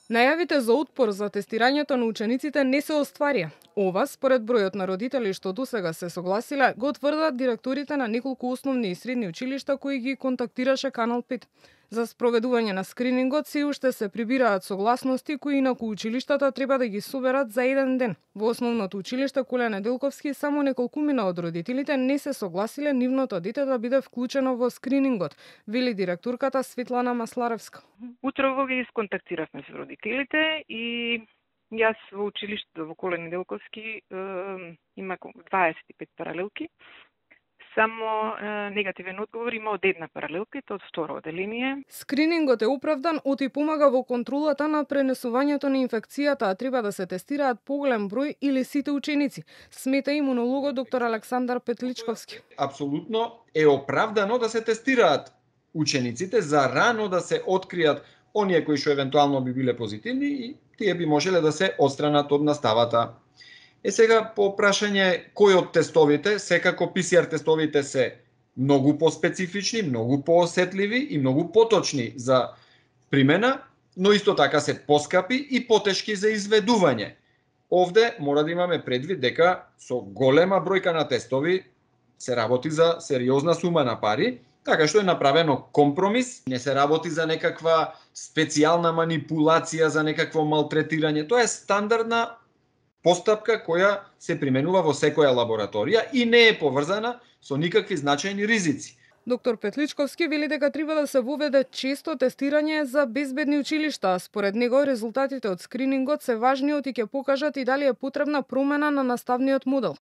Најавите за отпор за тестирањето на учениците не се остварија. Ова, според бројот на родители што досега се согласиле, го тврдат директорите на неколку основни и средни училишта кои ги контактираше Канал 5. За спроведување на скринингот се уште се прибираат согласности кои инаку училиштата треба да ги соберат за еден ден. Во основното училиште Коле Неделковски само неколкумина од родителите не се согласиле нивното дете да биде вклучено во скринингот, вели директорката Светлана Масларевска. Утрово ги сконтактиравме со родителите и јас во училиштето во Коле Неделковски има 25 паралелки. Само негативен одговор има од една паралелка, и тоа од второ оделение. Скринингот е оправдан, оти помага во контролата на пренесувањето на инфекцијата, а треба да се тестираат поголем број или сите ученици, смета имунологот доктор Александар Петличковски. Апсолутно е оправдано да се тестираат учениците за рано да се откријат оние кои што евентуално би биле позитивни и тие би можеле да се отстранат од наставата. Сега по прашање кој од тестовите, секако ПСР тестовите се многу поспецифични, многу поосетливи и многу поточни за примена, но исто така се поскапи и потешки за изведување. Овде мора да имаме предвид дека со голема бројка на тестови се работи за сериозна сума на пари, така што е направено компромис, не се работи за некаква специјална манипулација, за некакво малтретирање. Тоа е стандардна постапка која се применува во секоја лабораторија и не е поврзана со никакви значајни ризици. Доктор Петличковски вели дека треба да се воведе често тестирање за безбедни училишта. Според него резултатите од скринингот се важни и ќе покажат и дали е потребна промена на наставниот модел.